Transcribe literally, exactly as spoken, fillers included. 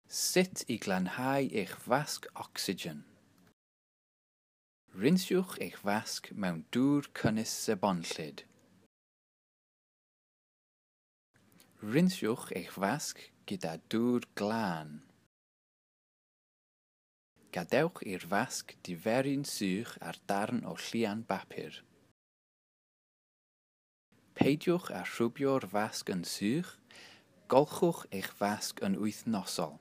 Sut i glanhau eich fasg ocsigen. Rinsiwch eich fasg mewn dŵr cynnes sebonllyd. Rinsiwch eich fasg gyda dŵr glân. Gadewch i'r fasg diferu'n sych ar darn o llian bapur. Peidiwch â rhwbio'r fasg yn sych, golchwch eich fasg yn wythnosol.